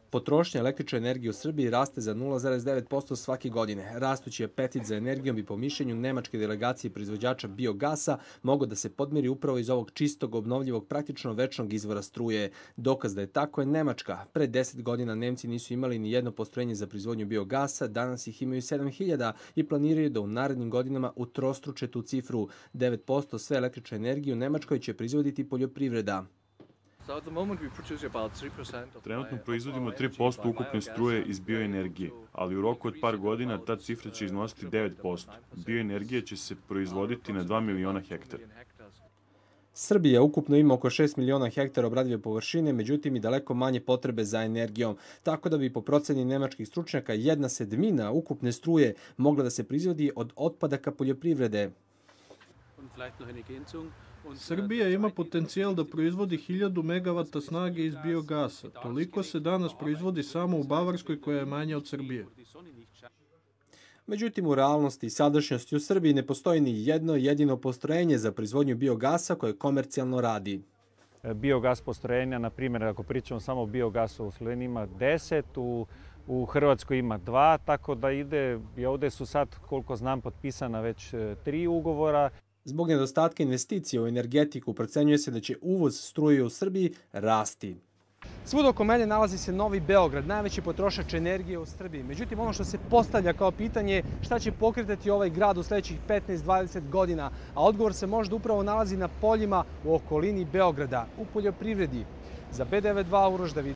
Potrošnja električne energije u Srbiji raste za 0,9% svake godine. Rastući apetit za energijom bi po mišljenju nemačke delegacije proizvođača biogasa mogao da se podmiri upravo iz ovog čistog, obnovljivog, praktično večnog izvora struje. Dokaz da je tako je Nemačka. Pre 10 godina Nemci nisu imali ni jedno postrojenje za proizvodnju biogasa, danas ih imaju 7.000 i planiraju da u narednim godinama utrostruče tu cifru. 9% sve električne energije u Nemačkoj će proizvoditi poljoprivreda. Trenutno proizvodimo 3% ukupne struje iz bioenergije, ali u roku od par godina ta cifra će iznositi 9%. Bioenergija će se proizvoditi na 2 miliona hektara. Srbija ukupno ima oko 6 miliona hektara obradive površine, međutim i daleko manje potrebe za energijom, tako da bi po proceni nemačkih stručnjaka 1/7 ukupne struje mogla da se proizvodi od otpadaka poljoprivrede. Srbija ima potencijal da proizvodi 1000 megavata snage iz biogasa. Toliko se danas proizvodi samo u Bavarskoj, koja je manja od Srbije. Međutim, u realnosti i sadašnjosti u Srbiji ne postoji ni jedno jedino postrojenje za proizvodnju biogasa koje komercijalno radi. Biogas postrojenja, na primjer, ako pričamo samo o biogasu, u Sloveniji ima 10, u Hrvatskoj ima 2, tako da ide, i ovdje su sad, koliko znam, potpisana već 3 ugovora. Zbog nedostatka investicija u energetiku procenjuje se da će uvoz struje u Srbiji rasti. Svuda oko mene nalazi se Novi Beograd, najveći potrošač energije u Srbiji. Međutim, ono što se postavlja kao pitanje je šta će pokretati ovaj grad u sljedećih 15-20 godina, a odgovor se možda upravo nalazi na poljima u okolini Beograda, u poljoprivredi. Za B92 Uroš David.